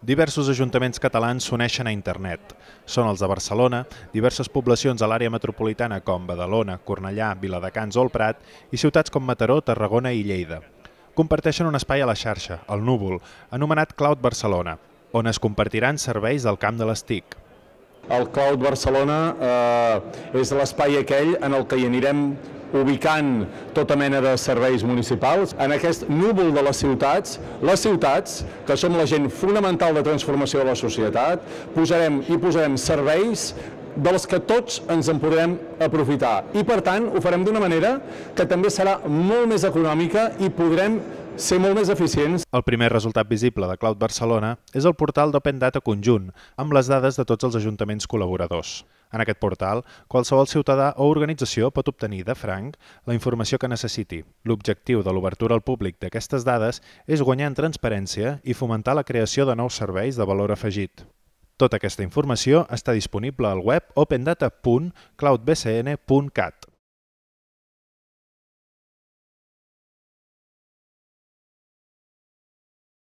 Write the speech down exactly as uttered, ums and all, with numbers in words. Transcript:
Diversos ajuntaments catalans s'uneixen a internet. Són els de Barcelona, diverses poblacions a l'àrea metropolitana com Badalona, Cornellà, Viladecans o el Prat i ciutats com Mataró, Tarragona i Lleida. Comparteixen un espai a la xarxa, el Núvol, anomenat Cloud Barcelona, on es compartiran serveis del camp de les T I C. El Cloud Barcelona eh, és l'espai aquell en el que hi anirem ubicant tota mena de serveis municipals. En aquest núvol de les ciutats, les ciutats, que som la gent fonamental de transformació de la societat, posarem i posarem serveis dels que tots ens en podrem aprofitar. I per tant ho farem d'una manera que també serà molt més econòmica i podrem ser molt més eficients. El primer resultat visible de Cloud Barcelona és el portal d'Open Data conjunt, amb les dades de tots els ajuntaments col·laboradors. En aquest portal, qualsevol ciutadà o organització pot obtenir de franc la informació que necessiti. L'objectiu de l'obertura al públic d'aquestes dades és guanyar en transparència i fomentar la creació de nous serveis de valor afegit. Tota aquesta informació està disponible al web open data punt cloud b c n punt cat.